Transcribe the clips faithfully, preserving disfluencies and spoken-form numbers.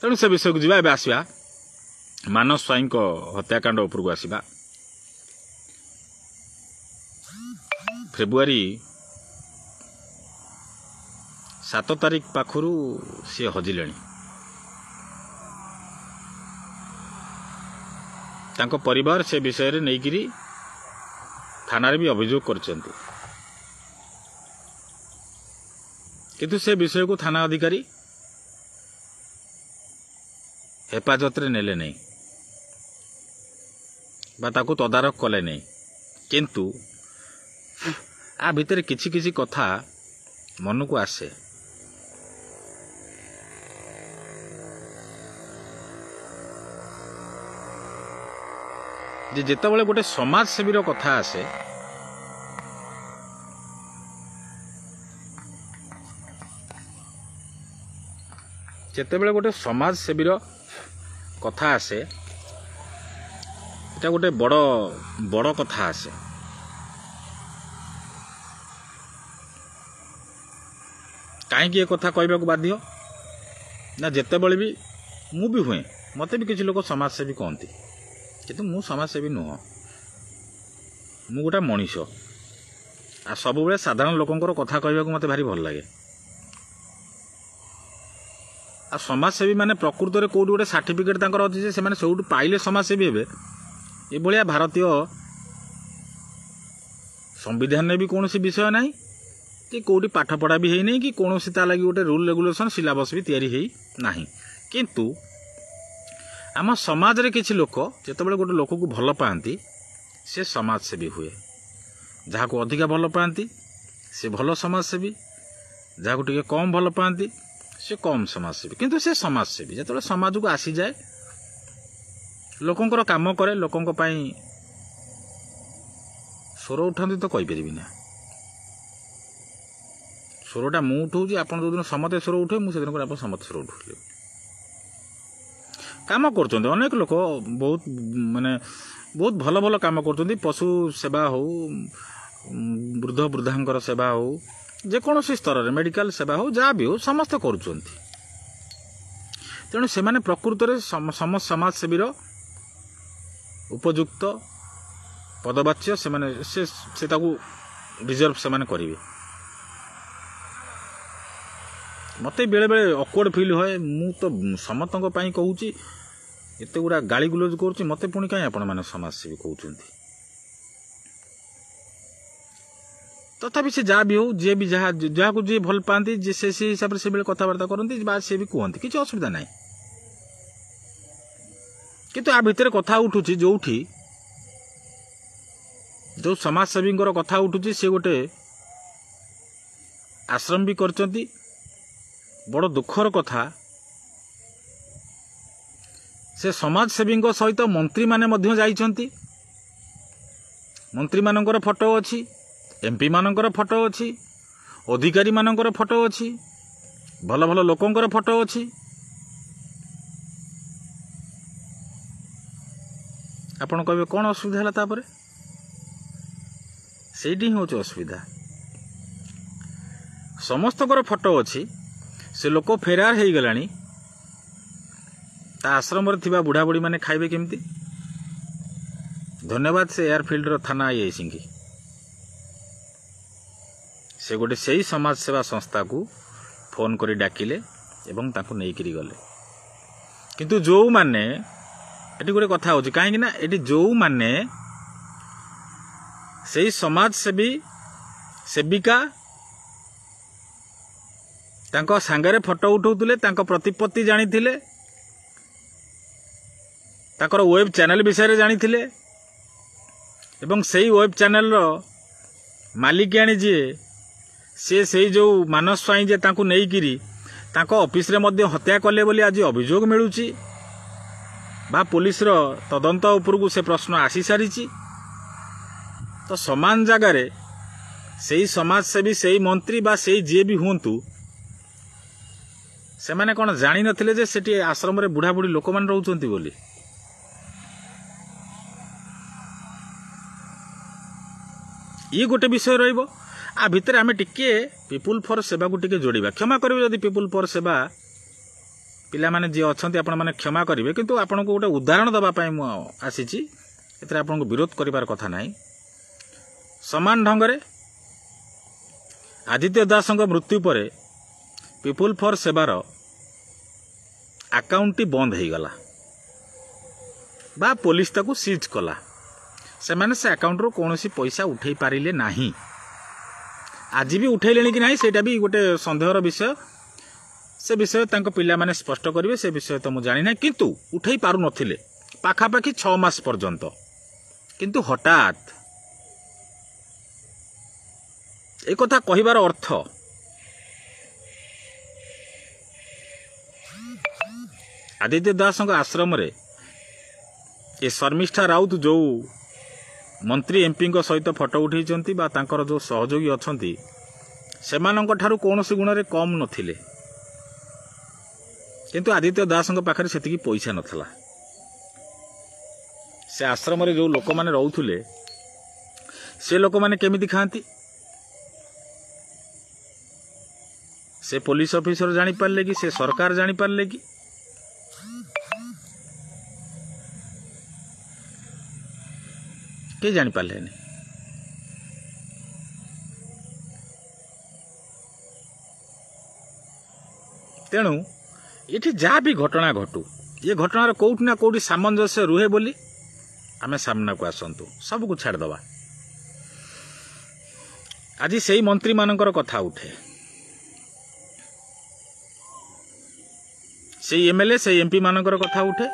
ତେଣୁ ସେ ବିଷୟକୁ ଯିବା। ଏବେ ଆସିବା ମାନସ ସ୍ୱାଇଁଙ୍କ ହତ୍ୟାକାଣ୍ଡ ଉପରକୁ ଆସିବା। ଫେବୃଆରୀ ସାତ ତାରିଖ ପାଖରୁ ସିଏ ହଜିଲେଣି। ତାଙ୍କ ପରିବାର ସେ ବିଷୟରେ ନେଇକିରି ଥାନାରେ ବି ଅଭିଯୋଗ କରିଛନ୍ତି, କିନ୍ତୁ ସେ ବିଷୟକୁ ଥାନା ଅଧିକାରୀ ହେଫାଜତରେ ନେଲେ ନାହିଁ ବା ତାକୁ ତଦାରଖ କଲେ ନାହିଁ। କିନ୍ତୁ ଆ ଭିତରେ କିଛି କିଛି କଥା ମନକୁ ଆସେ। ଯେ ଯେତେବେଳେ ଗୋଟେ ସମାଜସେବୀର କଥା ଆସେ, ଯେତେବେଳେ ଗୋଟେ ସମାଜସେବୀର କଥା ଆସେ, ଏଟା ଗୋଟେ ବଡ଼ ବଡ଼ କଥା ଆସେ। କାହିଁକି ଏ କଥା କହିବାକୁ ବାଧ୍ୟ ନା, ଯେତେବେଳେ ବି ମୁଁ ବି ହୁଏ, ମୋତେ ବି କିଛି ଲୋକ ସମାଜସେବୀ କହନ୍ତି, କିନ୍ତୁ ମୁଁ ସମାଜସେବୀ ନୁହଁ। ମୁଁ ଗୋଟେ ମଣିଷ, ଆଉ ସବୁବେଳେ ସାଧାରଣ ଲୋକଙ୍କର କଥା କହିବାକୁ ମୋତେ ଭାରି ଭଲ ଲାଗେ। ଆଉ ସମାଜସେବୀ ମାନେ ପ୍ରକୃତରେ କେଉଁଠି ଗୋଟେ ସାର୍ଟିଫିକେଟ୍ ତାଙ୍କର ଅଛି ଯେ ସେମାନେ ସେଇଠୁ ପାଇଲେ ସମାଜସେବୀ ହେବେ, ଏଭଳିଆ ଭାରତୀୟ ସମ୍ବିଧାନରେ ବି କୌଣସି ବିଷୟ ନାହିଁ କି କେଉଁଠି ପାଠପଢ଼ା ବି ହେଇନାହିଁ କି କୌଣସି ତା ଲାଗି ଗୋଟେ ରୁଲ୍ ରେଗୁଲେସନ୍ ସିଲାବସ୍ ବି ତିଆରି ହେଇ ନାହିଁ। କିନ୍ତୁ ଆମ ସମାଜରେ କିଛି ଲୋକ ଯେତେବେଳେ ଗୋଟେ ଲୋକକୁ ଭଲ ପାଆନ୍ତି, ସେ ସମାଜସେବୀ ହୁଏ। ଯାହାକୁ ଅଧିକା ଭଲ ପାଆନ୍ତି ସେ ଭଲ ସମାଜସେବୀ, ଯାହାକୁ ଟିକେ କମ୍ ଭଲ ପାଆନ୍ତି ସେ କମ୍ ସମାଜସେବୀ। କିନ୍ତୁ ସେ ସମାଜସେବୀ ଯେତେବେଳେ ସମାଜକୁ ଆସିଯାଏ, ଲୋକଙ୍କର କାମ କରେ, ଲୋକଙ୍କ ପାଇଁ ସ୍ୱର ଉଠାନ୍ତି ତ କହିପାରିବି ନା, ସ୍ୱରଟା ମୁଁ ଉଠଉଛି, ଆପଣ ଯେଉଁଦିନ ସମସ୍ତେ ସ୍ୱର ଉଠେ ମୁଁ ସେଦିନ ଆପଣ ସମସ୍ତେ ସ୍ୱର ଉଠେଇଲେ। କାମ କରୁଛନ୍ତି ଅନେକ ଲୋକ, ବହୁତ ମାନେ ବହୁତ ଭଲ ଭଲ କାମ କରୁଛନ୍ତି। ପଶୁ ସେବା ହଉ, ବୃଦ୍ଧ ବୃଦ୍ଧାଙ୍କର ସେବା ହଉ, ଯେକୌଣସି ସ୍ତରରେ ମେଡ଼ିକାଲ ସେବା ହଉ, ଯାହା ବି ହଉ, ସମସ୍ତେ କରୁଛନ୍ତି। ତେଣୁ ସେମାନେ ପ୍ରକୃତରେ ସମସ୍ତ ସମାଜସେବୀର ଉପଯୁକ୍ତ ପଦବାଚ୍ୟ, ସେମାନେ ସେ ସେ ତାକୁ ଡିଜର୍ଭ ସେମାନେ କରିବେ। ମୋତେ ବେଳେବେଳେ ଅକ୍ୱାର୍ଡ଼ ଫିଲ୍ ହୁଏ, ମୁଁ ତ ସମସ୍ତଙ୍କ ପାଇଁ କହୁଛି, ଏତେ ଗୁଡ଼ା ଗାଳି ଗୁଲଜ କରୁଛି, ମୋତେ ପୁଣି କାହିଁ ଆପଣମାନେ ସମାଜସେବୀ କହୁଛନ୍ତି? ତଥାପି ସେ ଯାହା ବି ହଉ, ଯିଏ ବି ଯାହା ଯାହାକୁ ଯିଏ ଭଲ ପାଆନ୍ତି, ଯେ ସେ ସେଇ ହିସାବରେ ସେବେଳେ କଥାବାର୍ତ୍ତା କରନ୍ତି ବା ସେ ବି କୁହନ୍ତି, କିଛି ଅସୁବିଧା ନାହିଁ। କିନ୍ତୁ ଆ ଭିତରେ କଥା ଉଠୁଛି, ଯେଉଁଠି ଯେଉଁ ସମାଜସେବୀଙ୍କର କଥା ଉଠୁଛି, ସେ ଗୋଟେ ଆଶ୍ରମ ବି କରିଛନ୍ତି। ବଡ଼ ଦୁଃଖର କଥା, ସେ ସମାଜସେବୀଙ୍କ ସହିତ ମନ୍ତ୍ରୀମାନେ ମଧ୍ୟ ଯାଇଛନ୍ତି। ମନ୍ତ୍ରୀମାନଙ୍କର ଫଟୋ ଅଛି, ଏମ୍ପିମାନଙ୍କର ଫଟୋ ଅଛି, ଅଧିକାରୀମାନଙ୍କର ଫଟୋ ଅଛି, ଭଲ ଭଲ ଲୋକଙ୍କର ଫଟୋ ଅଛି। ଆପଣ କହିବେ କ'ଣ ଅସୁବିଧା ହେଲା? ତାପରେ ସେଇଠି ହିଁ ହେଉଛି ଅସୁବିଧା। ସମସ୍ତଙ୍କର ଫଟୋ ଅଛି, ସେ ଲୋକ ଫେରାର ହେଇଗଲାଣି, ତା ଆଶ୍ରମରେ ଥିବା ବୁଢ଼ାବୁଢ଼ୀମାନେ ଖାଇବେ କେମିତି? ଧନ୍ୟବାଦ ସେ ଏୟାରଫିଲ୍ଡର ଥାନା ଆଇଆଇସିଙ୍କି, ସେ ଗୋଟେ ସେଇ ସମାଜସେବା ସଂସ୍ଥାକୁ ଫୋନ୍ କରି ଡାକିଲେ ଏବଂ ତାଙ୍କୁ ନେଇକିରି ଗଲେ। କିନ୍ତୁ ଯେଉଁମାନେ ଏଠି ଗୋଟେ କଥା ହେଉଛି, କାହିଁକି ନା ଏଠି ଯେଉଁମାନେ ସେଇ ସମାଜସେବୀ ସେବିକା ତାଙ୍କ ସାଙ୍ଗରେ ଫଟୋ ଉଠାଉଥିଲେ, ତାଙ୍କ ପ୍ରତିପତ୍ତି ଜାଣିଥିଲେ, ତାଙ୍କର ୱେବ୍ ଚ୍ୟାନେଲ୍ ବିଷୟରେ ଜାଣିଥିଲେ, ଏବଂ ସେଇ ୱେବ୍ ଚ୍ୟାନେଲ୍ର ମାଲିକାଣୀ ଯିଏ, ସିଏ ସେଇ ଯେଉଁ ମାନସ ସ୍ୱାଇଁ ଯେ ତାଙ୍କୁ ନେଇକିରି ତାଙ୍କ ଅଫିସରେ ମଧ୍ୟ ହତ୍ୟା କଲେ ବୋଲି ଆଜି ଅଭିଯୋଗ ମିଳୁଛି ବା ପୋଲିସର ତଦନ୍ତ ଉପରକୁ ସେ ପ୍ରଶ୍ନ ଆସିସାରିଛି। ତ ସମାନ ଜାଗାରେ ସେଇ ସମାଜସେବୀ, ସେଇ ମନ୍ତ୍ରୀ ବା ସେଇ ଯିଏ ବି ହୁଅନ୍ତୁ, ସେମାନେ କ'ଣ ଜାଣିନଥିଲେ ଯେ ସେଠି ଆଶ୍ରମରେ ବୁଢ଼ାବୁଢ଼ୀ ଲୋକମାନେ ରହୁଛନ୍ତି ବୋଲି? ଇଏ ଗୋଟେ ବିଷୟ ରହିବ। ଆ ଭିତରେ ଆମେ ଟିକିଏ ପିପୁଲ୍ ଫର୍ ସେବାକୁ ଟିକେ ଯୋଡ଼ିବା। କ୍ଷମା କରିବେ ଯଦି ପିପୁଲ୍ ଫର୍ ସେବା ପିଲାମାନେ ଯିଏ ଅଛନ୍ତି ଆପଣମାନେ କ୍ଷମା କରିବେ, କିନ୍ତୁ ଆପଣଙ୍କୁ ଗୋଟେ ଉଦାହରଣ ଦେବା ପାଇଁ ମୁଁ ଆସିଛି, ଏଥିରେ ଆପଣଙ୍କୁ ବିରୋଧ କରିବାର କଥା ନାହିଁ। ସମାନ ଢଙ୍ଗରେ ଆଦିତ୍ୟ ଦାସଙ୍କ ମୃତ୍ୟୁ ପରେ ପିପୁଲ୍ ଫର୍ ସେବାର ଆକାଉଣ୍ଟଟି ବନ୍ଦ ହେଇଗଲା ବା ପୋଲିସ ତାକୁ ସିଜ୍ କଲା। ସେମାନେ ସେ ଆକାଉଣ୍ଟରୁ କୌଣସି ପଇସା ଉଠେଇ ପାରିଲେ ନାହିଁ। ଆଜି ବି ଉଠେଇଲେଣି କି ନାହିଁ ସେଇଟା ବି ଗୋଟେ ସନ୍ଦେହର ବିଷୟ। ସେ ବିଷୟ ତାଙ୍କ ପିଲାମାନେ ସ୍ପଷ୍ଟ କରିବେ, ସେ ବିଷୟ ତ ମୁଁ ଜାଣିନାହିଁ। କିନ୍ତୁ ଉଠେଇ ପାରୁନଥିଲେ ପାଖାପାଖି ଛଅ ମାସ ପର୍ଯ୍ୟନ୍ତ। କିନ୍ତୁ ହଠାତ୍ ଏ କଥା କହିବାର ଅର୍ଥ ଆଦିତ୍ୟ ଦାସଙ୍କ ଆଶ୍ରମରେ ଏ ଶର୍ମିଷ୍ଠା ରାଉତ ଯେଉଁ ମନ୍ତ୍ରୀ ଏମ୍ପିଙ୍କ ସହିତ ଫଟୋ ଉଠେଇଛନ୍ତି ବା ତାଙ୍କର ଯେଉଁ ସହଯୋଗୀ ଅଛନ୍ତି ସେମାନଙ୍କ ଠାରୁ କୌଣସି ଗୁଣରେ କମ୍ ନଥିଲେ, କିନ୍ତୁ ଆଦିତ୍ୟ ଦାସଙ୍କ ପାଖରେ ସେତିକି ପଇସା ନଥିଲା। ସେ ଆଶ୍ରମରେ ଯେଉଁ ଲୋକମାନେ ରହୁଥିଲେ ସେ ଲୋକମାନେ କେମିତି ଖାଆନ୍ତି ସେ ପୋଲିସ ଅଫିସର ଜାଣିପାରିଲେ କି, ସେ ସରକାର ଜାଣିପାରିଲେ କି? କେହି ଜାଣିପାରିଲେନି। ତେଣୁ ଏଠି ଯାହା ବି ଘଟଣା ଘଟୁ, ଏ ଘଟଣାର କେଉଁଠି ନା କେଉଁଠି ସାମଞ୍ଜସ୍ୟ ରୁହେ ବୋଲି ଆମେ ସାମ୍ନାକୁ ଆସନ୍ତୁ, ସବୁକୁ ଛାଡ଼ିଦେବା। ଆଜି ସେଇ ମନ୍ତ୍ରୀମାନଙ୍କର କଥା ଉଠେ, ସେଇ ଏମ୍ଏଲ୍ଏ ସେଇ ଏମ୍ପି ମାନଙ୍କର କଥା ଉଠେ।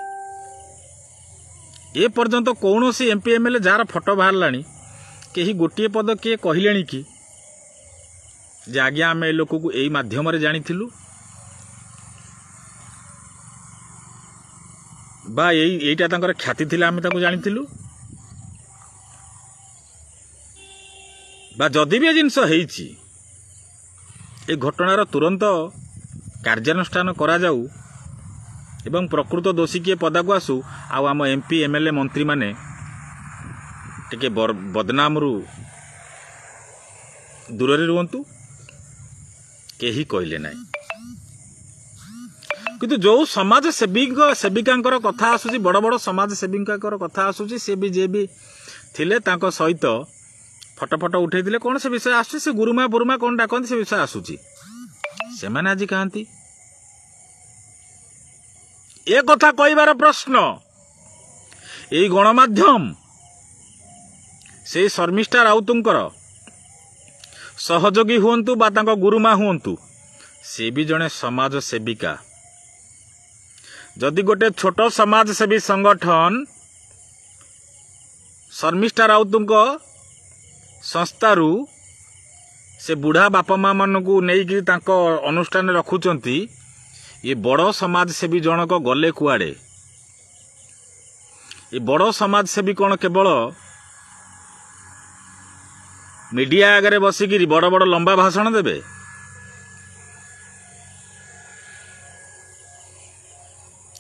ଏ ପର୍ଯ୍ୟନ୍ତ କୌଣସି ଏମ୍ପି ଏମ୍ଏଲ୍ଏ ଯାହାର ଫଟୋ ବାହାରିଲାଣି କେହି ଗୋଟିଏ ପଦ କିଏ କହିଲେଣି କି ଯେ ଆଜ୍ଞା ଆମେ ଏ ଲୋକକୁ ଏଇ ମାଧ୍ୟମରେ ଜାଣିଥିଲୁ ବା ଏଇ ଏଇଟା ତାଙ୍କର ଖ୍ୟାତି ଥିଲା ଆମେ ତାକୁ ଜାଣିଥିଲୁ, ବା ଯଦି ବି ଏ ଜିନିଷ ହେଇଛି ଏ ଘଟଣାର ତୁରନ୍ତ କାର୍ଯ୍ୟାନୁଷ୍ଠାନ କରାଯାଉ ଏବଂ ପ୍ରକୃତ ଦୋଷୀ କିଏ ପଦାକୁ ଆସୁ, ଆଉ ଆମ ଏମ୍ପି ଏମ୍ଏଲ୍ଏ ମନ୍ତ୍ରୀମାନେ ଟିକେ ବଦନାମରୁ ଦୂରରେ ରୁହନ୍ତୁ, କେହି କହିଲେ ନାହିଁ। କିନ୍ତୁ ଯେଉଁ ସମାଜସେବୀଙ୍କ ସେବିକାଙ୍କର କଥା ଆସୁଛି, ବଡ଼ ବଡ଼ ସମାଜସେବୀଙ୍କର କଥା ଆସୁଛି, ସେ ବି ଯିଏ ବି ଥିଲେ ତାଙ୍କ ସହିତ ଫଟୋ ଫଟୋ ଉଠେଇଥିଲେ, କ'ଣ ସେ ବିଷୟ ଆସୁଛି, ସେ ଗୁରୁମା ବୁରୁମା କ'ଣ ଡାକନ୍ତି ସେ ବିଷୟ ଆସୁଛି, ସେମାନେ ଆଜି କାହାନ୍ତି? ଏ କଥା କହିବାର ପ୍ରଶ୍ନ ଏଇ ଗଣମାଧ୍ୟମ ସେଇ ଶର୍ମିଷ୍ଠା ରାଉତଙ୍କର ସହଯୋଗୀ ହୁଅନ୍ତୁ ବା ତାଙ୍କ ଗୁରୁମା ହୁଅନ୍ତୁ, ସେ ବି ଜଣେ ସମାଜ ସେବିକା। ଯଦି ଗୋଟେ ଛୋଟ ସମାଜସେବୀ ସଂଗଠନ ଶର୍ମିଷ୍ଠା ରାଉତଙ୍କ ସଂସ୍ଥାରୁ ସେ ବୁଢ଼ା ବାପା ମା ମାନଙ୍କୁ ନେଇକି ତାଙ୍କ ଅନୁଷ୍ଠାନରେ ରଖୁଛନ୍ତି, ଏ ବଡ଼ ସମାଜସେବୀ ଜଣକ ଗଲେ କୁଆଡ଼େ? ଏ ବଡ଼ ସମାଜସେବୀ କ'ଣ କେବଳ ମିଡ଼ିଆ ଆଗରେ ବସିକିରି ବଡ଼ ବଡ଼ ଲମ୍ବା ଭାଷଣ ଦେବେ?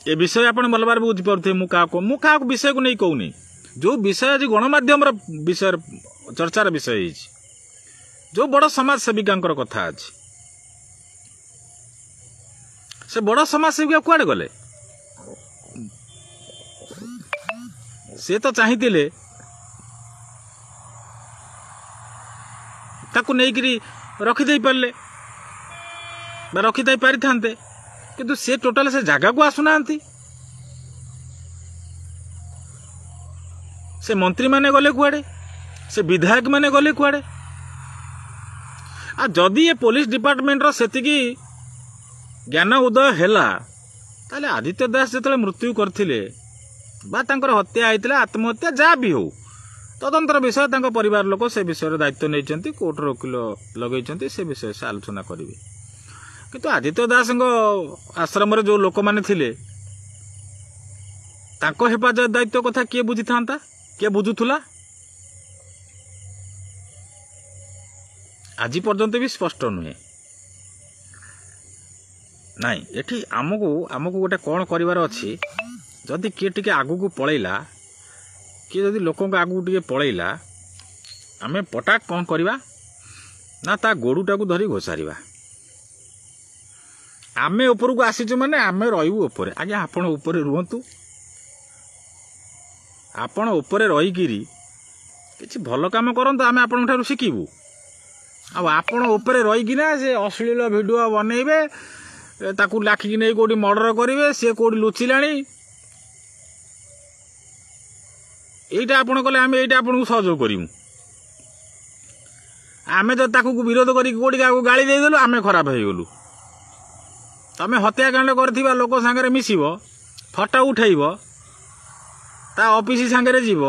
ଏ ବିଷୟ ଆପଣ ଭଲ ଭାବରେ ବୁଝିପାରୁଥିବେ। ମୁଁ କାହାକୁ ମୁଁ କାହାକୁ ବିଷୟକୁ ନେଇ କହୁନି, ଯେଉଁ ବିଷୟ ଆଜି ଗଣମାଧ୍ୟମର ବିଷୟରେ ଚର୍ଚ୍ଚାର ବିଷୟ ହେଇଛି, ଯେଉଁ ବଡ଼ ସମାଜସେବିକାଙ୍କର କଥା ଅଛି, ସେ ବଡ଼ ସମାଜସେବିକା କୁଆଡ଼େ ଗଲେ? ସେ ତ ଚାହିଁଥିଲେ ତାକୁ ନେଇକିରି ରଖିଦେଇ ପାରିଲେ ବା ରଖିଦେଇ ପାରିଥାନ୍ତେ, କିନ୍ତୁ ସେ ଟୋଟାଲ ସେ ଜାଗାକୁ ଆସୁନାହାନ୍ତି। ସେ ମନ୍ତ୍ରୀମାନେ ଗଲେ କୁଆଡ଼େ? ସେ ବିଧାୟକମାନେ ଗଲେ କୁଆଡ଼େ? ଆଉ ଯଦି ଏ ପୋଲିସ ଡିପାର୍ଟମେଣ୍ଟର ସେତିକି ଜ୍ଞାନ ଉଦୟ ହେଲା, ତାହେଲେ ଆଦିତ୍ୟ ଦାସ ଯେତେବେଳେ ମୃତ୍ୟୁ କରିଥିଲେ ବା ତାଙ୍କର ହତ୍ୟା ହେଇଥିଲା, ଆତ୍ମହତ୍ୟା ଯାହା ବି ହଉ, ତଦନ୍ତର ବିଷୟ, ତାଙ୍କ ପରିବାର ଲୋକ ସେ ବିଷୟରେ ଦାୟିତ୍ୱ ନେଇଛନ୍ତି, କୋର୍ଟର ଓକିଲ ଲଗେଇଛନ୍ତି, ସେ ବିଷୟରେ ସେ ଆଲୋଚନା କରିବେ। କିନ୍ତୁ ଆଦିତ୍ୟ ଦାସଙ୍କ ଆଶ୍ରମରେ ଯେଉଁ ଲୋକମାନେ ଥିଲେ ତାଙ୍କ ହେଫାଜତ ଦାୟିତ୍ୱ କଥା କିଏ ବୁଝିଥାନ୍ତା? କିଏ ବୁଝୁଥିଲା? ଆଜି ପର୍ଯ୍ୟନ୍ତ ବି ସ୍ପଷ୍ଟ ନୁହେଁ। ନାଇଁ, ଏଠି ଆମକୁ ଆମକୁ ଗୋଟେ କ'ଣ କରିବାର ଅଛି, ଯଦି କିଏ ଟିକେ ଆଗକୁ ପଳେଇଲା, କିଏ ଯଦି ଲୋକଙ୍କ ଆଗକୁ ଟିକେ ପଳେଇଲା, ଆମେ ପଟାକ କ'ଣ କରିବା ନା ତା ଗୋଡ଼ଟାକୁ ଧରି ଘୋଷାରିବା। ଆମେ ଉପରକୁ ଆସିଛୁ ମାନେ ଆମେ ରହିବୁ ଉପରେ। ଆଜ୍ଞା ଆପଣ ଉପରେ ରୁହନ୍ତୁ, ଆପଣ ଉପରେ ରହିକିରି କିଛି ଭଲ କାମ କରନ୍ତୁ, ଆମେ ଆପଣଙ୍କ ଠାରୁ ଶିଖିବୁ। ଆଉ ଆପଣ ଉପରେ ରହିକିନା ସେ ଅଶ୍ଳୀଳ ଭିଡ଼ିଓ ବନେଇବେ, ତାକୁ ଲାଖିକି ନେଇ କେଉଁଠି ମର୍ଡ଼ର କରିବେ, ସିଏ କେଉଁଠି ଲୁଚିଲାଣି, ଏଇଟା ଆପଣ କଲେ ଆମେ ଏଇଟା ଆପଣଙ୍କୁ ସହଯୋଗ କରିବୁ। ଆମେ ତ ତାକୁ ବିରୋଧ କରିକି କେଉଁଠି କାହାକୁ ଗାଳି ଦେଇଦେଲୁ, ଆମେ ଖରାପ ହେଇଗଲୁ। ତମେ ହତ୍ୟାକାଣ୍ଡ କରିଥିବା ଲୋକ ସାଙ୍ଗରେ ମିଶିବ, ଫଟୋ ଉଠେଇବ, ତା ଅଫିସ ସାଙ୍ଗରେ ଯିବ,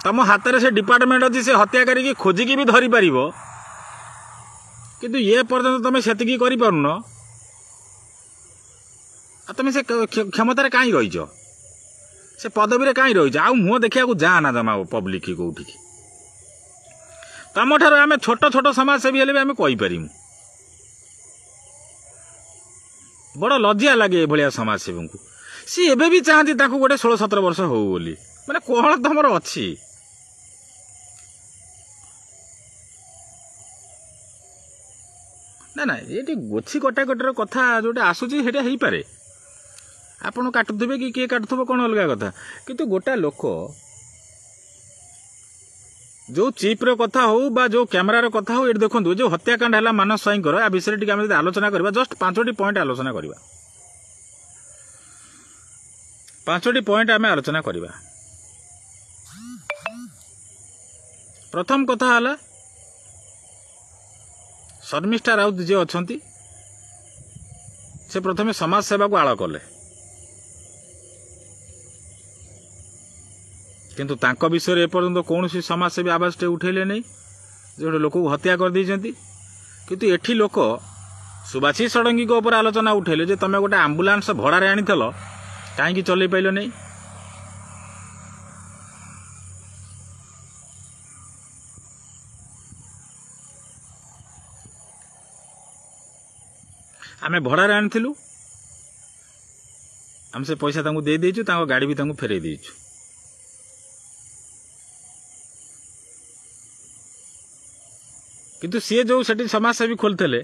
ତମ ହାତରେ ସେ ଡିପାର୍ଟମେଣ୍ଟ ଅଛି, ସେ ହତ୍ୟାକାରୀକି ଖୋଜିକି ବି ଧରିପାରିବ, କିନ୍ତୁ ଏ ପର୍ଯ୍ୟନ୍ତ ତମେ ସେତିକି କରିପାରୁନ। ଆଉ ତମେ ସେ କ୍ଷମତାରେ କାହିଁ ରହିଛ, ସେ ପଦବୀରେ କାହିଁ ରହିଛ? ଆଉ ମୁହଁ ଦେଖିବାକୁ ଯା ନା ଜମା ପବ୍ଲିକ କେଉଁଠିକି। ତମଠାରୁ ଆମେ ଛୋଟ ଛୋଟ ସମାଜସେବୀ ହେଲେ ବି ଆମେ କହିପାରିବୁ। ବଡ଼ ଲଜ୍ଜା ଲାଗେ ଏଭଳିଆ ସମାଜସେବୀଙ୍କୁ। ସିଏ ଏବେ ବି ଚାହାନ୍ତି ତାଙ୍କୁ ଗୋଟେ ଷୋହଳ ସତର ବର୍ଷ ହଉ ବୋଲି। ମାନେ କ'ଣ ତମର ଅଛି? ନା ନା, ଏଇଠି ଗୋଛି କଟାକଟିର କଥା ଯେଉଁଟା ଆସୁଛି ସେଇଟା ହେଇପାରେ, ଆପଣ କାଟୁଥିବେ କି କିଏ କାଟୁଥିବ କ'ଣ ଅଲଗା କଥା। କିନ୍ତୁ ଗୋଟା ଲୋକ ଯେଉଁ ଚିପ୍ର କଥା ହଉ ବା ଯେଉଁ କ୍ୟାମେରାର କଥା ହଉ, ଏଠି ଦେଖନ୍ତୁ ଯେଉଁ ହତ୍ୟାକାଣ୍ଡ ହେଲା ମାନସ ସ୍ୱାଇଁଙ୍କର, ଆ ବିଷୟରେ ଟିକେ ଆମେ ଯଦି ଆଲୋଚନା କରିବା, ଜଷ୍ଟ ପାଞ୍ଚଟି ପଏଣ୍ଟ ଆଲୋଚନା କରିବା, ପାଞ୍ଚଟି ପଏଣ୍ଟ ଆମେ ଆଲୋଚନା କରିବା। ପ୍ରଥମ କଥା ହେଲା ଶର୍ମିଷ୍ଠା ରାଉତ ଯିଏ ଅଛନ୍ତି ସେ ପ୍ରଥମେ ସମାଜ ସେବାକୁ ଆଳ କଲେ, କିନ୍ତୁ ତାଙ୍କ ବିଷୟରେ ଏପର୍ଯ୍ୟନ୍ତ କୌଣସି ସମାଜସେବୀ ଆବାଜଟେ ଉଠେଇଲେ ନାହିଁ ଯେ ଗୋଟେ ଲୋକକୁ ହତ୍ୟା କରିଦେଇଛନ୍ତି। କିନ୍ତୁ ଏଠି ଲୋକ ସୁବାସୀ ଷଡ଼ଙ୍ଗୀଙ୍କ ଉପରେ ଆଲୋଚନା ଉଠେଇଲେ ଯେ ତମେ ଗୋଟେ ଆମ୍ବୁଲାନ୍ସ ଭଡ଼ାରେ ଆଣିଥିଲ, କାହିଁକି ଚଲେଇ ପାଇଲ ନାହିଁ? ଆମେ ଭଡ଼ାରେ ଆଣିଥିଲୁ, ଆମେ ସେ ପଇସା ତାଙ୍କୁ ଦେଇଦେଇଛୁ, ତାଙ୍କ ଗାଡ଼ି ବି ତାଙ୍କୁ ଫେରେଇ ଦେଇଛୁ। କିନ୍ତୁ ସିଏ ଯେଉଁ ସେଠି ସମାଜସେବୀ ଖୋଲିଥିଲେ,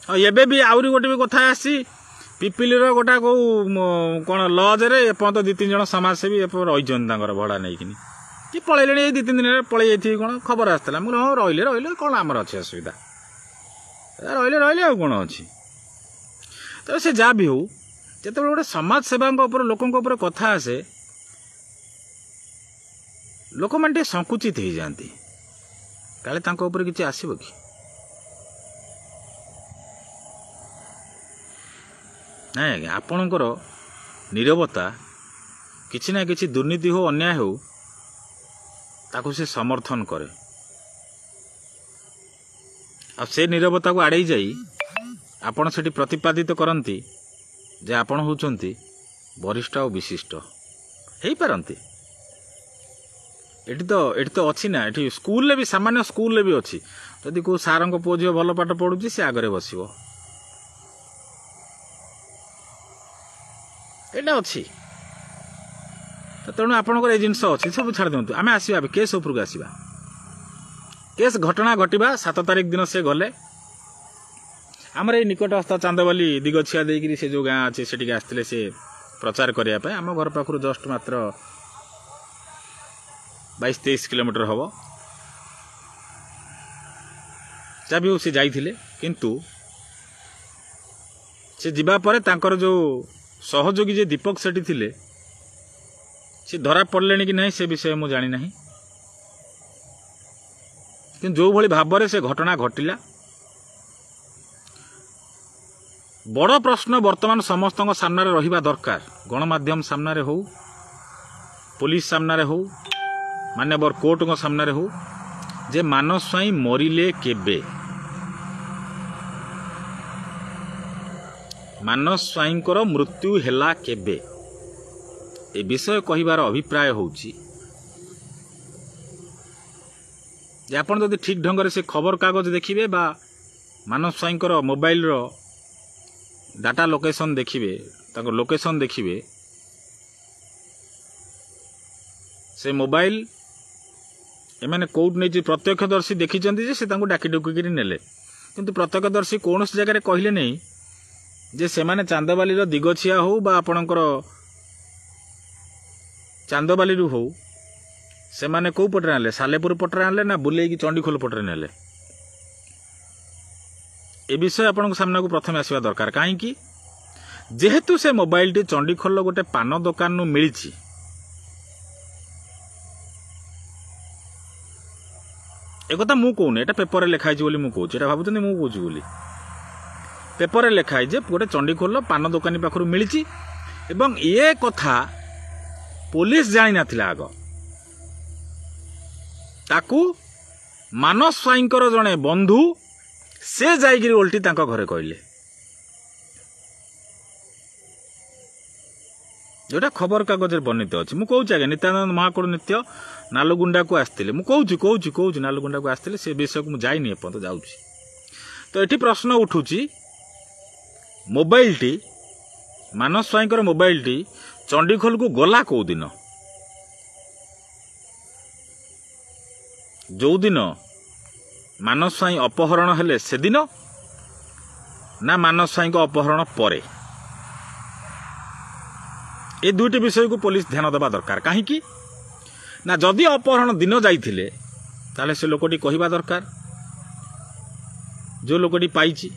ଆଉ ଏବେ ବି ଆହୁରି ଗୋଟେ ବି କଥା ଆସିଛି, ପିପିଲିର ଗୋଟା କେଉଁ କ'ଣ ଲଜରେ ଏପର୍ଯ୍ୟନ୍ତ ଦୁଇ ତିନି ଜଣ ସମାଜସେବୀ ଏପର୍ଯ୍ୟନ୍ତ ରହିଛନ୍ତି ତାଙ୍କର ଭଡ଼ା ନେଇକିନି, କି ପଳେଇଲେଣି ଏଇ ଦୁଇ ତିନି ଦିନରେ ପଳେଇ ଯାଇଥିବେ କ'ଣ ଖବର ଆସିଥିଲା। ମୁଁ ହଁ ରହିଲେ ରହିଲେ କ'ଣ ଆମର ଅଛି ଅସୁବିଧା, ରହିଲେ ରହିଲେ ଆଉ କ'ଣ ଅଛି। ତେବେ ସେ ଯାହା ବି ହଉ, ଯେତେବେଳେ ଗୋଟେ ସମାଜ ସେବାଙ୍କ ଉପରେ ଲୋକଙ୍କ ଉପରେ କଥା ଆସେ, ଲୋକମାନେ ଟିକେ ସଂକୁଚିତ ହେଇଯାଆନ୍ତି, କାଳେ ତାଙ୍କ ଉପରେ କିଛି ଆସିବ କି। ନାଇଁ ଆଜ୍ଞା, ଆପଣଙ୍କର ନୀରବତା କିଛି ନା କିଛି ଦୁର୍ନୀତି ହଉ ଅନ୍ୟାୟ ହଉ ତାକୁ ସେ ସମର୍ଥନ କରେ, ଆଉ ସେ ନୀରବତାକୁ ଆଡ଼େଇ ଯାଇ ଆପଣ ସେଠି ପ୍ରତିପାଦିତ କରନ୍ତି ଯେ ଆପଣ ହେଉଛନ୍ତି ବରିଷ୍ଠ ଆଉ ବିଶିଷ୍ଟ ହେଇପାରନ୍ତି। ଏଠି ତ ଏଠି ତ ଅଛି ନା, ଏଠି ସ୍କୁଲରେ ବି ସାମାନ୍ୟ ସ୍କୁଲରେ ବି ଅଛି, ଯଦି କେଉଁ ସାରଙ୍କ ପୁଅ ଝିଅ ଭଲ ପାଠ ପଢ଼ୁଛି ସେ ଆଗରେ ବସିବ, ଏଇଟା ଅଛି। ତ ତେଣୁ ଆପଣଙ୍କର ଏଇ ଜିନିଷ ଅଛି, ସବୁ ଛାଡ଼ି ଦିଅନ୍ତୁ। ଆମେ ଆସିବା ଏବେ କେସ୍ ଉପରକୁ ଆସିବା। କେସ୍ ଘଟଣା ଘଟିବା ସାତ ତାରିଖ ଦିନ ସେ ଗଲେ ଆମର ଏଇ ନିକଟସ୍ଥ ଚାନ୍ଦବାଲି ଦିଗଛିଆ ଦେଇକିରି ସେ ଯେଉଁ ଗାଁ ଅଛି ସେଠିକି ଆସିଥିଲେ ସେ ପ୍ରଚାର କରିବା ପାଇଁ। ଆମ ଘର ପାଖରୁ ଜଷ୍ଟ ମାତ୍ର ବାଇଶ ତେଇଶ କିଲୋମିଟର ହେବ। ଯାହା ବି ହଉ ସେ ଯାଇଥିଲେ, କିନ୍ତୁ ସେ ଯିବା ପରେ ତାଙ୍କର ଯେଉଁ ସହଯୋଗୀ ଯେ ଦୀପକ ସେଠି ଥିଲେ ସେ ଧରା ପଡ଼ିଲେଣି କି ନାହିଁ ସେ ବିଷୟ ମୁଁ ଜାଣିନାହିଁ, କିନ୍ତୁ ଯେଉଁଭଳି ଭାବରେ ସେ ଘଟଣା ଘଟିଲା, ବଡ଼ ପ୍ରଶ୍ନ ବର୍ତ୍ତମାନ ସମସ୍ତଙ୍କ ସାମ୍ନାରେ ରହିବା ଦରକାର, ଗଣମାଧ୍ୟମ ସାମ୍ନାରେ ହଉ, ପୋଲିସ ସାମ୍ନାରେ ହଉ, ମାନ୍ୟବର କୋର୍ଟଙ୍କ ସାମ୍ନାରେ ହଉ, ଯେ ମାନସ ସ୍ୱାଇଁ ମରିଲେ କେବେ? ମାନସ ସ୍ୱାଇଁଙ୍କର ମୃତ୍ୟୁ ହେଲା କେବେ? ଏ ବିଷୟ କହିବାର ଅଭିପ୍ରାୟ ହେଉଛି ଯେ ଆପଣ ଯଦି ଠିକ୍ ଢଙ୍ଗରେ ସେ ଖବରକାଗଜ ଦେଖିବେ ବା ମାନସ ସ୍ୱାଇଁଙ୍କର ମୋବାଇଲର ଡାଟା ଲୋକେସନ୍ ଦେଖିବେ, ତାଙ୍କ ଲୋକେସନ୍ ଦେଖିବେ, ସେ ମୋବାଇଲ ଏମାନେ କୋଉଠି ନେଇଛି ପ୍ରତ୍ୟକ୍ଷଦର୍ଶୀ ଦେଖିଛନ୍ତି ଯେ ସେ ତାଙ୍କୁ ଡାକି ଡୁକିକିରି ନେଲେ, କିନ୍ତୁ ପ୍ରତ୍ୟକ୍ଷଦର୍ଶୀ କୌଣସି ଜାଗାରେ କହିଲେ ନାହିଁ ଯେ ସେମାନେ ଚାନ୍ଦବାଲିର ଦିଗଛିଆ ହଉ ବା ଆପଣଙ୍କର ଚାନ୍ଦବାଲିରୁ ହଉ, ସେମାନେ କେଉଁ ପଟରେ ଆଣିଲେ, ସାଲେପୁର ପଟରେ ଆଣିଲେ ନା ବୁଲେଇକି ଚଣ୍ଡିଖୋଲ ପଟରେ ନେଲେ? ଏ ବିଷୟ ଆପଣଙ୍କ ସାମ୍ନାକୁ ପ୍ରଥମେ ଆସିବା ଦରକାର। କାହିଁକି? ଯେହେତୁ ସେ ମୋବାଇଲଟି ଚଣ୍ଡିଖୋଲର ଗୋଟେ ପାନ ଦୋକାନରୁ ମିଳିଛି, ଏକଥା ମୁଁ କହୁନି, ଏଇଟା ପେପରରେ ଲେଖା ହେଇଛି ବୋଲି ମୁଁ କହୁଛି। ଏଇଟା ଭାବୁଛନ୍ତି ମୁଁ କହୁଛି ବୋଲି। ପେପରରେ ଲେଖା ହେଇଛି ଯେ ଗୋଟେ ଚଣ୍ଡିଖୋଲର ପାନ ଦୋକାନୀ ପାଖରୁ ମିଳିଛି, ଏବଂ ଏ କଥା ପୋଲିସ ଜାଣିନଥିଲା ଆଗ। ତାକୁ ମାନସ ସ୍ୱାଇଁଙ୍କର ଜଣେ ବନ୍ଧୁ ସେ ଯାଇକିରି ଓଲଟି ତାଙ୍କ ଘରେ କହିଲେ, ଯେଉଁଟା ଖବରକାଗଜରେ ବର୍ଣ୍ଣିତ ଅଛି। ମୁଁ କହୁଛି ଆଜ୍ଞା, ନିତ୍ୟାନନ୍ଦ ମହାକୁଡ଼ ନିତ୍ୟ ନାଲୁଗୁଣ୍ଡାକୁ ଆସିଥିଲେ। ମୁଁ କହୁଛି କହୁଛି କହୁଛି ନାଲୁଗୁଣ୍ଡାକୁ ଆସିଥିଲେ, ସେ ବିଷୟକୁ ମୁଁ ଯାଇନି ଏପର୍ଯ୍ୟନ୍ତ, ଯାଉଛି। ତ ଏଠି ପ୍ରଶ୍ନ ଉଠୁଛି, ମୋବାଇଲଟି ମାନସ ସ୍ୱାଇଁଙ୍କର ମୋବାଇଲଟି ଚଣ୍ଡିଖୋଲକୁ ଗଲା କେଉଁଦିନ? ଯେଉଁଦିନ ମାନସ ସ୍ୱାଇଁ ଅପହରଣ ହେଲେ ସେଦିନ, ନା ମାନସ ସ୍ୱାଇଁଙ୍କ ଅପହରଣ ପରେ? ଏ ଦୁଇଟି ବିଷୟକୁ ପୋଲିସ ଧ୍ୟାନ ଦେବା ଦରକାର। କାହିଁକି ନା ଯଦି ଅପହରଣ ଦିନ ଯାଇଥିଲେ ତାହେଲେ ସେ ଲୋକଟି କହିବା ଦରକାର, ଯେଉଁ ଲୋକଟି ପାଇଛି,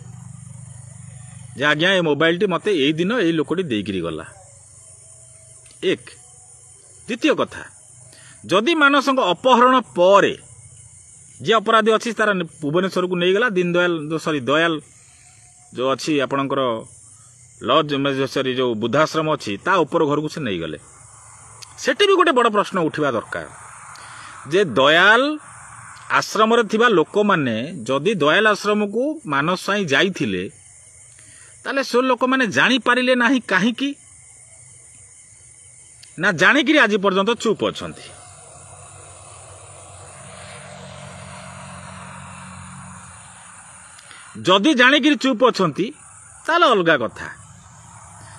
ଯେ ଆଜ୍ଞା ଏ ମୋବାଇଲଟି ମୋତେ ଏଇ ଦିନ ଏଇ ଲୋକଟି ଦେଇକିରି ଗଲା। ଏକ। ଦ୍ୱିତୀୟ କଥା, ଯଦି ମାନସଙ୍କ ଅପହରଣ ପରେ ଯିଏ ଅପରାଧୀ ଅଛି ତାର ଭୁବନେଶ୍ୱରକୁ ନେଇଗଲା, ଦୀନଦୟାଲ ସରି ଦୟାଲ ଯେଉଁ ଅଛି ଆପଣଙ୍କର ଲଜ୍ ସରି ଯେଉଁ ବୃଦ୍ଧାଶ୍ରମ ଅଛି ତା ଉପର ଘରକୁ ସେ ନେଇଗଲେ, ସେଠି ବି ଗୋଟେ ବଡ଼ ପ୍ରଶ୍ନ ଉଠିବା ଦରକାର ଯେ ଦୟାଲ ଆଶ୍ରମରେ ଥିବା ଲୋକମାନେ ଯଦି ଦୟାଲ ଆଶ୍ରମକୁ ମାନସ ସ୍ୱାଇଁ ଯାଇଥିଲେ ତାହେଲେ ସେ ଲୋକମାନେ ଜାଣିପାରିଲେ ନାହିଁ କାହିଁକି, ନା ଜାଣିକିରି ଆଜି ପର୍ଯ୍ୟନ୍ତ ଚୁପ୍ ଅଛନ୍ତି? ଯଦି ଜାଣିକିରି ଚୁପ୍ ଅଛନ୍ତି ତାହେଲେ ଅଲଗା କଥା।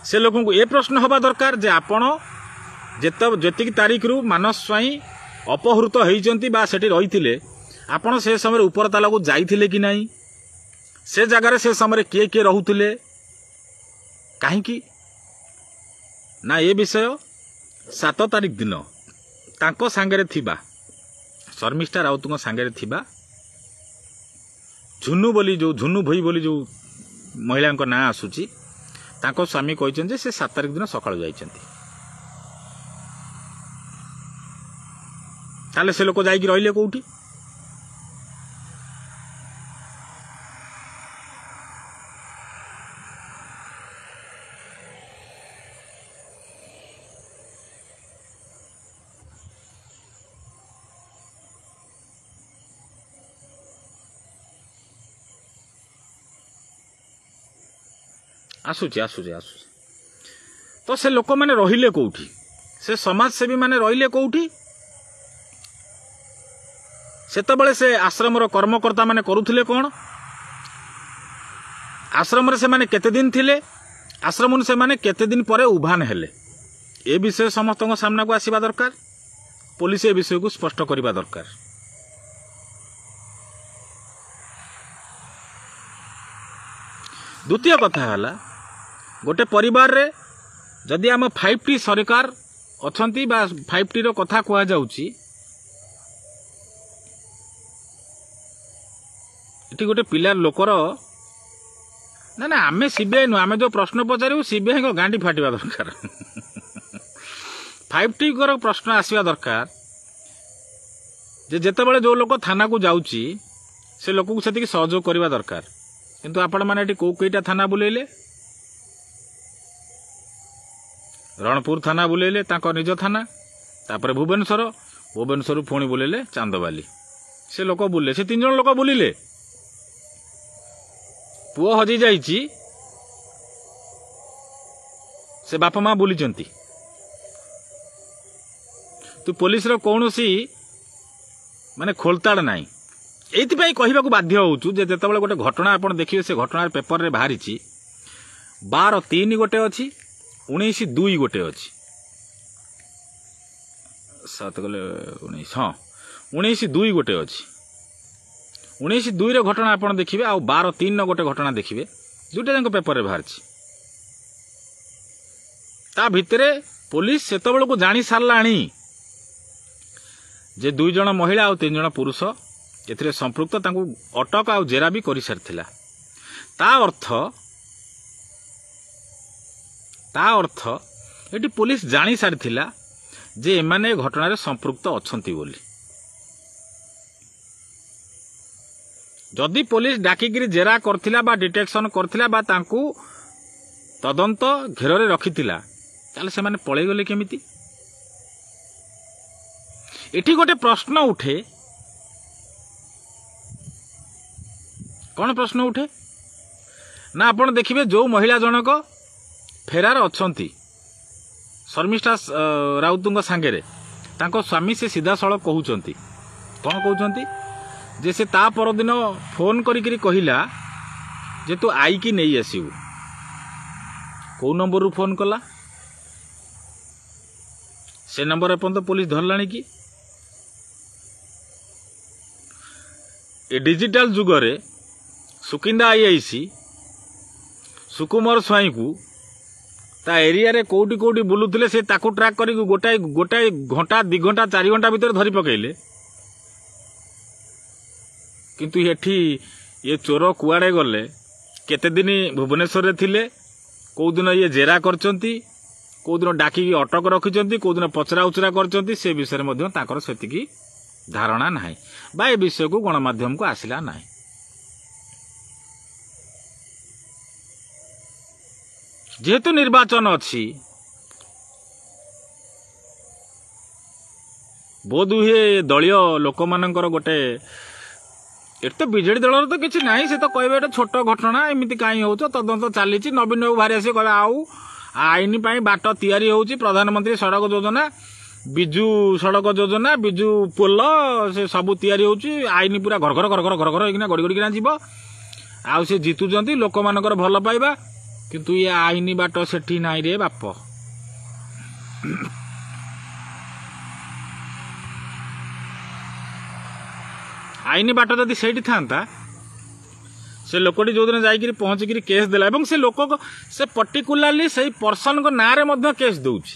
ସେ ଲୋକଙ୍କୁ ଏ ପ୍ରଶ୍ନ ହେବା ଦରକାର ଯେ ଆପଣ ଯେତେ ଯେତିକି ତାରିଖରୁ ମାନସ ସ୍ୱାଇଁ ଅପହୃତ ହେଇଛନ୍ତି ବା ସେଠି ରହିଥିଲେ, ଆପଣ ସେ ସମୟରେ ଉପର ତାଲାକୁ ଯାଇଥିଲେ କି ନାହିଁ? ସେ ଜାଗାରେ ସେ ସମୟରେ କିଏ କିଏ ରହୁଥିଲେ? କାହିଁକି ନା ଏ ବିଷୟ ସାତ ତାରିଖ ଦିନ ତାଙ୍କ ସାଙ୍ଗରେ ଥିବା ଶର୍ମିଷ୍ଠା ରାଉତଙ୍କ ସାଙ୍ଗରେ ଥିବା ଝୁନୁ ବୋଲି ଯେଉଁ ଝୁନୁ ଭୋଇ ବୋଲି ଯେଉଁ ମହିଳାଙ୍କ ନାଁ ଆସୁଛି, ତାଙ୍କ ସ୍ୱାମୀ କହିଛନ୍ତି ଯେ ସେ ସାତ ତାରିଖ ଦିନ ସକାଳୁ ଯାଇଛନ୍ତି। ତାହେଲେ ସେ ଲୋକ ଯାଇକି ରହିଲେ କେଉଁଠି? ଆସୁଛି ଆସୁଛି ଆସୁଛି। ତ ସେ ଲୋକମାନେ ରହିଲେ କେଉଁଠି? ସେ ସମାଜସେବୀମାନେ ରହିଲେ କେଉଁଠି? ସେତେବେଳେ ସେ ଆଶ୍ରମର କର୍ମକର୍ତ୍ତାମାନେ କରୁଥିଲେ କ'ଣ? ଆଶ୍ରମରେ ସେମାନେ କେତେ ଦିନ ଥିଲେ? ଆଶ୍ରମରୁ ସେମାନେ କେତେ ଦିନ ପରେ ଉଭାନ ହେଲେ? ଏ ବିଷୟ ସମସ୍ତଙ୍କ ସାମ୍ନାକୁ ଆସିବା ଦରକାର। ପୋଲିସ ଏ ବିଷୟକୁ ସ୍ପଷ୍ଟ କରିବା ଦରକାର। ଦ୍ୱିତୀୟ କଥା ହେଲା, ଗୋଟେ ପରିବାରରେ ଯଦି ଆମ ଫାଇଭ୍ ଟି ସରକାର ଅଛନ୍ତି ବା ଫାଇଭ୍ ଟିର କଥା କୁହାଯାଉଛି, ଏଠି ଗୋଟେ ପିଲା ଲୋକର ନା ନା ଆମେ ସିବିଆଇ ନୁହଁ, ଆମେ ଯେଉଁ ପ୍ରଶ୍ନ ପଚାରିବୁ ସିବିଆଇଙ୍କ ଗାଣ୍ଡି ଫାଟିବା ଦରକାର। ଫାଇଭ୍ ଟିଙ୍କର ପ୍ରଶ୍ନ ଆସିବା ଦରକାର ଯେ ଯେତେବେଳେ ଯେଉଁ ଲୋକ ଥାନାକୁ ଯାଉଛି ସେ ଲୋକକୁ ସେତିକି ସହଯୋଗ କରିବା ଦରକାର। କିନ୍ତୁ ଆପଣମାନେ ଏଠି କେଉଁ କେଇଟା ଥାନା ବୁଲେଇଲେ? ରଣପୁର ଥାନା ବୁଲେଇଲେ, ତାଙ୍କ ନିଜ ଥାନା, ତାପରେ ଭୁବନେଶ୍ୱର, ଭୁବନେଶ୍ୱରରୁ ପୁଣି ବୁଲେଇଲେ ଚାନ୍ଦବାଲି। ସେ ଲୋକ ବୁଲିଲେ, ସେ ତିନି ଜଣ ଲୋକ ବୁଲିଲେ। ପୁଅ ହଜି ଯାଇଛି, ସେ ବାପା ମା ବୁଲିଛନ୍ତି। ତୁ ପୋଲିସର କୌଣସି ମାନେ ଖୋଳତାଡ଼ ନାହିଁ। ଏଇଥିପାଇଁ କହିବାକୁ ବାଧ୍ୟ ହେଉଛୁ ଯେ ଯେତେବେଳେ ଗୋଟେ ଘଟଣା ଆପଣ ଦେଖିବେ, ସେ ଘଟଣାର ପେପରରେ ବାହାରିଛି ବାର ତିନି ଗୋଟେ ଅଛି, ଉଣେଇଶ ଦୁଇ ଗୋଟେ ଅଛି, ସାତ ଗଲେ ଉଣେଇଶ, ହଁ ଉଣେଇଶ ଦୁଇ ଗୋଟେ ଅଛି। ଉଣେଇଶ ଦୁଇର ଘଟଣା ଆପଣ ଦେଖିବେ ଆଉ ବାର ତିନିର ଗୋଟେ ଘଟଣା ଦେଖିବେ, ଦୁଇଟା ଯାକ ପେପରରେ ବାହାରିଛି। ତା ଭିତରେ ପୋଲିସ ସେତେବେଳକୁ ଜାଣି ସାରିଲାଣି ଯେ ଦୁଇ ଜଣ ମହିଳା ଆଉ ତିନି ଜଣ ପୁରୁଷ ଏଥିରେ ସମ୍ପୃକ୍ତ, ତାଙ୍କୁ ଅଟକ ଆଉ ଜେରା ବି କରିସାରିଥିଲା। ତା ଅର୍ଥ ତା ଅର୍ଥ ଏଠି ପୋଲିସ ଜାଣି ସାରିଥିଲା ଯେ ଏମାନେ ଏ ଘଟଣାରେ ସମ୍ପୃକ୍ତ ଅଛନ୍ତି ବୋଲି। ଯଦି ପୋଲିସ ଡାକିକିରି ଜେରା କରିଥିଲା ବା ଡିଟେକ୍ସନ କରିଥିଲା ବା ତାଙ୍କୁ ତଦନ୍ତ ଘେରରେ ରଖିଥିଲା, ତାହେଲେ ସେମାନେ ପଳେଇଗଲେ କେମିତି? ଏଠି ଗୋଟେ ପ୍ରଶ୍ନ ଉଠେ। କ'ଣ ପ୍ରଶ୍ନ ଉଠେ ନା, ଆପଣ ଦେଖିବେ ଯେଉଁ ମହିଳା ଜଣକ ଫେରାର ଅଛନ୍ତି ଶର୍ମିଷ୍ଠା ରାଉତଙ୍କ ସାଙ୍ଗରେ, ତାଙ୍କ ସ୍ୱାମୀ ସେ ସିଧାସଳଖ କହୁଛନ୍ତି। କ'ଣ କହୁଛନ୍ତି ଯେ ସେ ତା ପରଦିନ ଫୋନ୍ କରିକିରି କହିଲା ଯେ ତୁ ଆଇକି ନେଇ ଆସିବୁ। କେଉଁ ନମ୍ବରରୁ ଫୋନ୍ କଲା? ସେ ନମ୍ବର ଏପର୍ଯ୍ୟନ୍ତ ପୋଲିସ ଧରିଲାଣି କି? ଏ ଡିଜିଟାଲ ଯୁଗରେ ସୁକିନ୍ଦା ଆଇଆଇସି ସୁକୁମାର ସ୍ୱାଇଁକୁ ତା ଏରିଆରେ କେଉଁଠି କେଉଁଠି ବୁଲୁଥିଲେ ସେ ତାକୁ ଟ୍ରାକ୍ କରିକି ଗୋଟାଏ ଗୋଟାଏ ଘଣ୍ଟା ଦୁଇ ଘଣ୍ଟା ଚାରି ଘଣ୍ଟା ଭିତରେ ଧରି ପକେଇଲେ। କିନ୍ତୁ ଏଠି ଏ ଚୋର କୁଆଡ଼େ ଗଲେ, କେତେ ଦିନ ଭୁବନେଶ୍ୱରରେ ଥିଲେ, କେଉଁଦିନ ଇଏ ଜେରା କରିଛନ୍ତି, କେଉଁଦିନ ଡାକିକି ଅଟକ ରଖିଛନ୍ତି, କେଉଁଦିନ ପଚରା ଉଚରା କରିଛନ୍ତି, ସେ ବିଷୟରେ ମଧ୍ୟ ତାଙ୍କର ସେତିକି ଧାରଣା ନାହିଁ ବା ଏ ବିଷୟକୁ ଗଣମାଧ୍ୟମକୁ ଆସିଲା ନାହିଁ। ଯେହେତୁ ନିର୍ବାଚନ ଅଛି, ବୋଧହୁଏ ଦଳୀୟ ଲୋକମାନଙ୍କର ଗୋଟେ, ଏଠି ତ ବିଜେଡି ଦଳର ତ କିଛି ନାହିଁ, ସେ ତ କହିବେ ଏଇଟା ଛୋଟ ଘଟଣା, ଏମିତି କାହିଁ ହେଉଛ, ତଦନ୍ତ ଚାଲିଛି। ନବୀନ ବାବୁ ବାହାରି ଆସିବେ କହିବେ ଆଉ ଆଇନ ପାଇଁ ବାଟ ତିଆରି ହେଉଛି, ପ୍ରଧାନମନ୍ତ୍ରୀ ସଡ଼କ ଯୋଜନା, ବିଜୁ ସଡ଼କ ଯୋଜନା, ବିଜୁ ପୋଲ, ସେ ସବୁ ତିଆରି ହେଉଛି, ଆଇନ ପୁରା ଘର ଘର ଘର ଘର ଘର ଘର ହେଇକିନା ଗଡ଼ି ଗଡ଼ିକିନା ଯିବ, ଆଉ ସେ ଜିତୁଛନ୍ତି, ଲୋକମାନଙ୍କର ଭଲ ପାଇବା। କିନ୍ତୁ ଇଏ ଆଇନ ବାଟ ସେଠି ନାହିଁ ରେ ବାପ। ଆଇନ ବାଟ ଯଦି ସେଇଠି ଥାନ୍ତା, ସେ ଲୋକଟି ଯେଉଁଦିନ ଯାଇକିରି ପହଞ୍ଚିକିରି କେସ୍ ଦେଲା, ଏବଂ ସେ ଲୋକ ସେ ପର୍ଟିକୁଲାରଲି ସେଇ ପର୍ସନଙ୍କ ନାଁରେ ମଧ୍ୟ କେସ୍ ଦେଉଛି।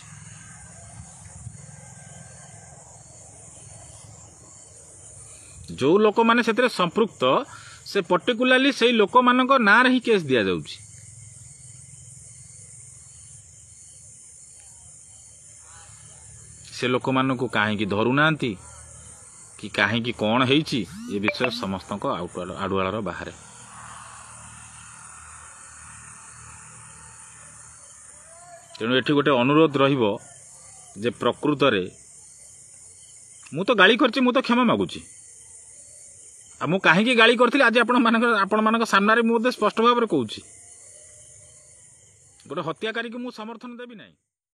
ଯେଉଁ ଲୋକମାନେ ସେଥିରେ ସମ୍ପୃକ୍ତ ସେ ପର୍ଟିକୁଲାରଲି ସେଇ ଲୋକମାନଙ୍କ ନାଁରେ ହିଁ କେସ୍ ଦିଆଯାଉଛି। ସେ ଲୋକମାନଙ୍କୁ କାହିଁକି ଧରୁନାହାନ୍ତି କି କାହିଁକି କ'ଣ ହେଇଛି, ଏ ବିଷୟ ସମସ୍ତଙ୍କ ଆଡୁଆଳର ବାହାରେ। ତେଣୁ ଏଠି ଗୋଟେ ଅନୁରୋଧ ରହିବ ଯେ ପ୍ରକୃତରେ ମୁଁ ତ ଗାଳି କରିଛି, ମୁଁ ତ କ୍ଷମା ମାଗୁଛି। ଆଉ ମୁଁ କାହିଁକି ଗାଳି କରିଥିଲି ଆଜି ଆପଣମାନଙ୍କ ଆପଣମାନଙ୍କ ସାମ୍ନାରେ ମୁଁ ମଧ୍ୟ ସ୍ପଷ୍ଟ ଭାବରେ କହୁଛି, ଗୋଟେ ହତ୍ୟାକାରୀକୁ ମୁଁ ସମର୍ଥନ ଦେବି ନାହିଁ।